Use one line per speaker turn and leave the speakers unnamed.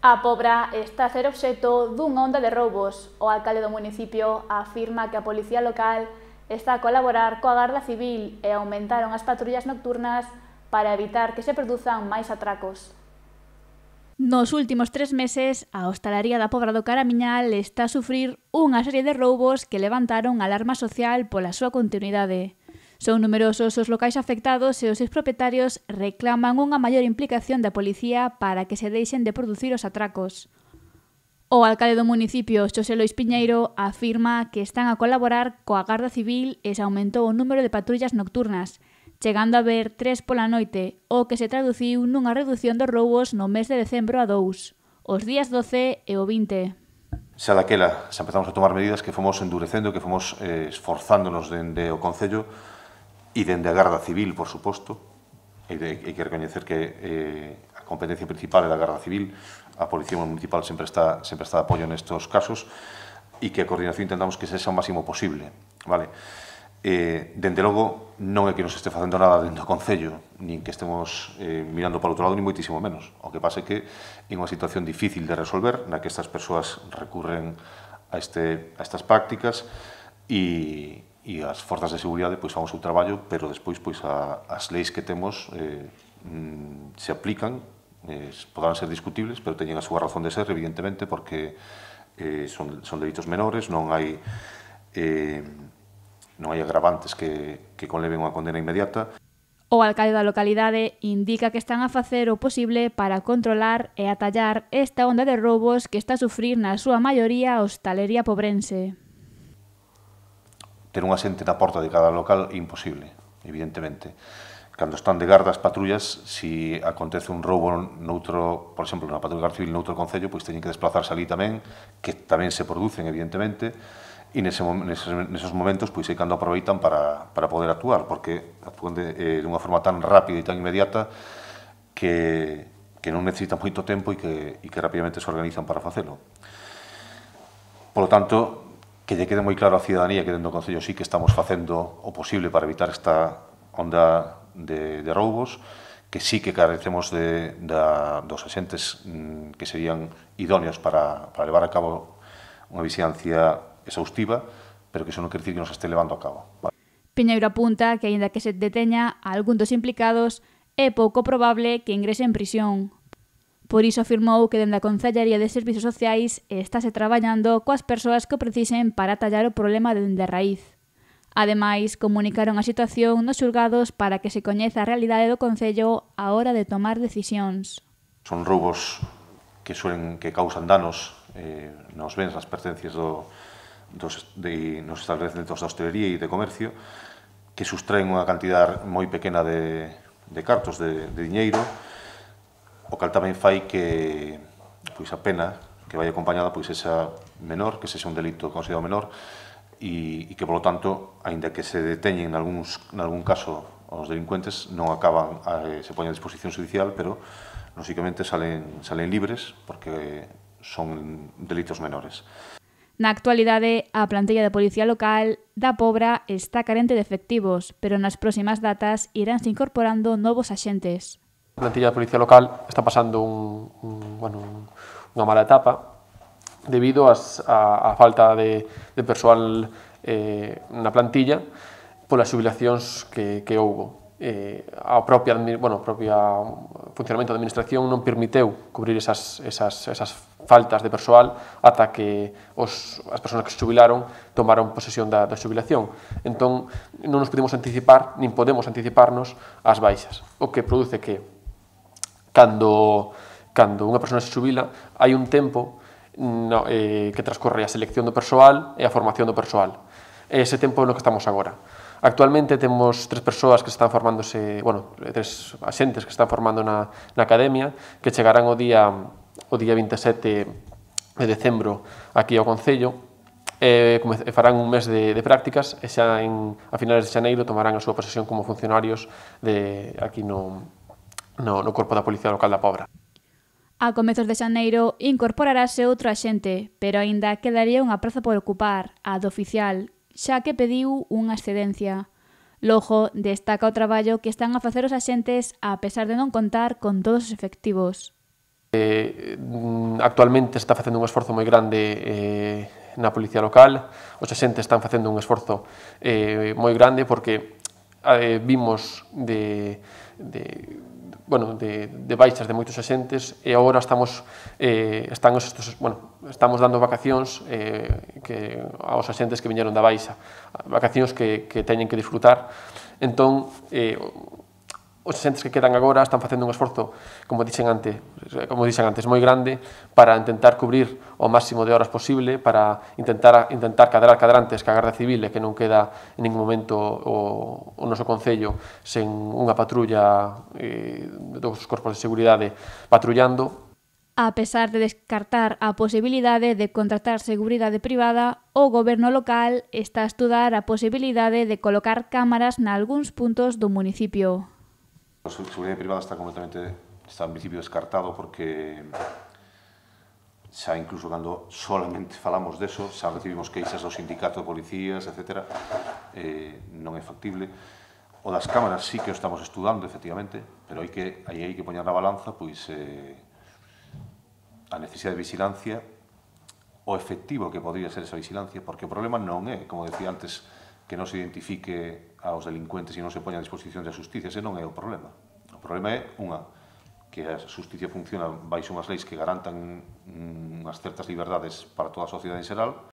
A Pobra está a ser obxecto dunha onda de roubos. O alcalde do municipio afirma que a policía local está a colaborar coa Garda Civil e aumentaron as patrullas nocturnas para evitar que se produzan máis atracos. Nos últimos 3 meses, a hostalaría da Pobra do Caramiñal está a sufrir unha serie de roubos que levantaron alarma social pola súa continuidade. Son numerosos os locais afectados e os seus propietarios reclaman unha maior implicación da policía para que se deixen de producir os atracos. O alcalde do municipio, Xosé Lois Piñeiro, afirma que están a colaborar coa Garda Civil e se aumentou o número de patrullas nocturnas, chegando a haber 3 pola noite, o que se traduciu nunha reducción dos roubos no mes de decembro a 2, os días 12 e o 20.
Xa daquela, xa empezamos a tomar medidas que fomos endurecendo, que fomos esforzándonos dende o Concello e dende a Garda Civil, por suposto. Hai que recoñecer que a competencia principal é da Garda Civil, a Policía Municipal sempre está de apoio nestes casos e que a coordinación intentamos que sexa o máximo posible. Vale? Dende logo, non é que nos este facendo nada dentro do Concello, nin que estemos mirando para o outro lado, nin moitísimo menos. O que pasa é que é unha situación difícil de resolver, na que estas persoas recurren a estas prácticas e as forzas de seguridade pois fan o seu traballo, pero despois pois as leis que temos se aplican, poderán ser discutibles, pero teñen a súa razón de ser, evidentemente, porque son delitos menores, non hai agravantes que conleven unha condena inmediata.
O alcalde da localidade indica que están a facer o posible para controlar e atallar esta onda de roubos que está a sufrir na súa maioría a hostalería pobrense.
Ter unha xente na porta de cada local é imposible, evidentemente. Cando están de garda as patrullas, se acontece un roubo noutro, por exemplo, na patrulla Garda Civil noutro concello, pois teñen que desplazarse ali tamén, que tamén se producen, evidentemente, e neses momentos pois é cando aproveitan para poder actuar, porque actúan dunha forma tan rápida e tan inmediata que non necesitan moito tempo e que rapidamente se organizan para facelo. Por lo tanto, que lle quede moi claro á cidadanía que dentro do Concello sí que estamos facendo o posible para evitar esta onda de roubos, que sí que carecemos dos axentes que serían idóneos para levar a cabo unha vixilancia exhaustiva, pero que iso non quer dicir que non se este levando a cabo.
Piñeiro apunta que, aínda que se deteña a algún dos implicados, é pouco probable que ingrese en prisión. Por iso afirmou que dende a Concellaría de Servizos Sociais estáse traballando coas persoas que o precisen para atallar o problema dende a raíz. Ademais, comunicaron a situación nos xulgados para que se coñeza a realidade do Concello á hora de tomar decisións.
Son roubos que causan danos nos bens, nas pertencias nos estabelecementos da hostelería e de comercio, que sustraen unha cantidad moi pequena de cartos, de diñeiro, o cal tamén fai que pois a pena que vai acompañada pois esa menor, que sexa un delito considerado menor e que, polo tanto, aínda que se deteñen nalgún caso os delincuentes, non acaban, se poñen a disposición judicial, pero, lóxicamente, salen libres porque son delitos menores.
Na actualidade, a plantilla de policía local da Pobra está carente de efectivos, pero nas próximas datas iránse incorporando novos axentes.
A plantilla de policía local está pasando unha mala etapa debido á falta de persoal na plantilla polas xubilacións que houbo. O propio funcionamento da administración non permiteu cubrir esas faltas de persoal ata que as persoas que se xubilaron tomaron posesión da xubilación. Entón, non nos podemos anticipar, nin podemos anticiparnos ás baixas, o que produce que cando unha persoa se xubila, hai un tempo que transcorre a selección do persoal e a formación do persoal. Ese tempo é no que estamos agora. Actualmente temos 3 persoas que están formándose, 3 axentes que están formando na academia, que chegarán o día 27 de decembro aquí ao Concello, farán un mes de prácticas e xa a finales de xaneiro tomarán a súa posesión como funcionarios aquí no Corpo da Policía Local da Pobra.
A comezos de xaneiro incorporarase outro axente, pero aínda quedaría unha praza por ocupar, a do oficial, xa que pediu unha excedencia. Logo, destaca o traballo que están a facer os axentes a pesar de non contar con todos os efectivos.
Actualmente se está facendo un esforzo moi grande na policía local, os axentes están facendo un esforzo moi grande porque vimos de baixas de moitos axentes e agora estamos dando vacacións aos axentes que viñeron da baixa, vacacións que teñen que disfrutar. Entón, os axentes que quedan agora están facendo un esforzo, como dixen antes, moi grande para intentar cubrir o máximo de horas posible, para intentar cadrar cadrantes que a Garda Civil e que non queda en ningún momento o noso concello sen unha patrulla dos corpos de seguridade patrullando.
A pesar de descartar a posibilidade de contratar seguridade privada, o goberno local está a estudar a posibilidade de colocar cámaras nalgúns puntos do municipio.
A seguridade privada está en principio descartado porque xa incluso cando solamente falamos deso, xa recibimos queixas do sindicato de policías, etc. Non é factible. O das cámaras sí que o estamos estudando, efectivamente, pero hai que poñer na balanza a necesidade de vigilancia, o efectivo que podría ser esa vigilancia, porque o problema non é, como decía antes, que non se identifique aos delincuentes e non se poña a disposición da xusticia, ese non é o problema. O problema é, que a xusticia funciona baixo unhas leis que garantan unhas certas liberdades para toda a sociedade en xeral,